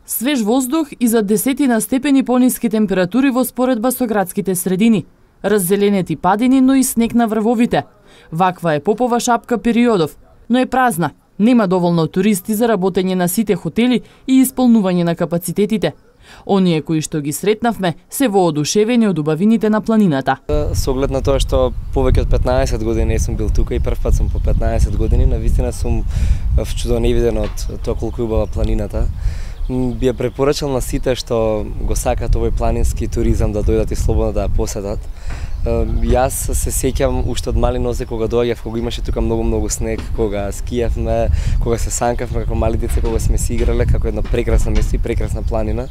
Свеж воздух и за десетина степени пониски температури во споредба со градските средини. Раззеленети падини, но и снег на врвовите. Ваква е Попова шапка периодов, но е празна. Нема доволно туристи за работење на сите хотели и исполнување на капацитетите. Оние кои што ги сретнавме се воодушевени од убавините на планината. Со оглед на тоа што повеќе од 15 години не сум бил тука и прв пат сум по 15 години, навистина сум вчудоневиден од тоа колку е убава планината. Би ја препорачал на сите што го сакаат овој планински туризам да дојдат и слободно да ја посетат. Јас се сеќам уште од мали нозе кога доаѓав, кога имаше тука многу снег, кога скијавме, кога се санкавме како мали деца, кога сме си играле како едно прекрасно место и прекрасна планина.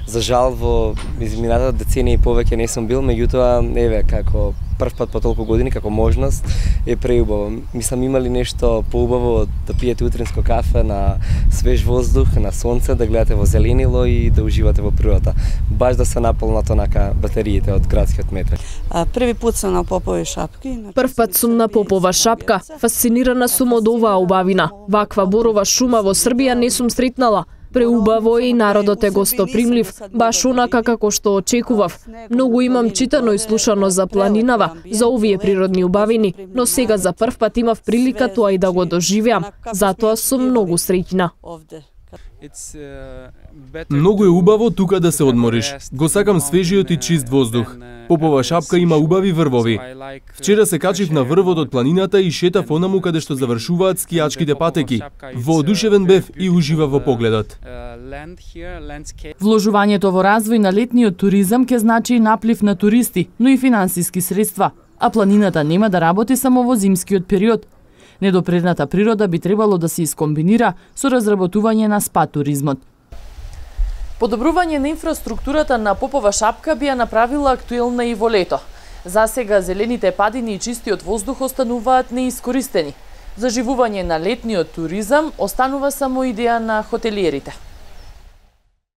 За жал во измината деценија и повеќе не сум бил, меѓутоа еве како прв пат по толку години како можност е преубаво. Мислам имали нешто поубаво да пиете утринско кафе на свеж воздух, на сонце, да гледате во зеленило и да уживате во природата. Баш да се наполнат онака батериите од градскиот метро. Први пат сум на Попови шапки. Прв пат сум на Попова шапка. Фасцинирана сум од оваа убавина. Ваква борова шума во Србија не сум сретнала. Преубаво и народот е гостопримлив, баш онака како што очекував. Многу имам читано и слушано за планинава, за овие природни убавини, но сега за прв пат имав прилика тоа и да го доживеам. Затоа сум многу среќна. Многу е убаво тука да се одмориш. Го сакам свежиот и чист воздух. Попова шапка има убави врвови. Вчера се качив на врвот од планината и шетав онаму каде што завршуваат скијачките патеки. Воодушевен бев и уживав во погледот. Вложувањето во развој на летниот туризам ќе значи и наплив на туристи, но и финансиски средства, а планината нема да работи само во зимскиот период. Недопредната природа би требало да се искомбинира со разработување на спа туризмот. Подобрување на инфраструктурата на Попова шапка би ја направила актуелна и во лето. Засега зелените падини и чистиот воздух остануваат неискористени. Заживување на летниот туризам останува само идеја на хотелиерите.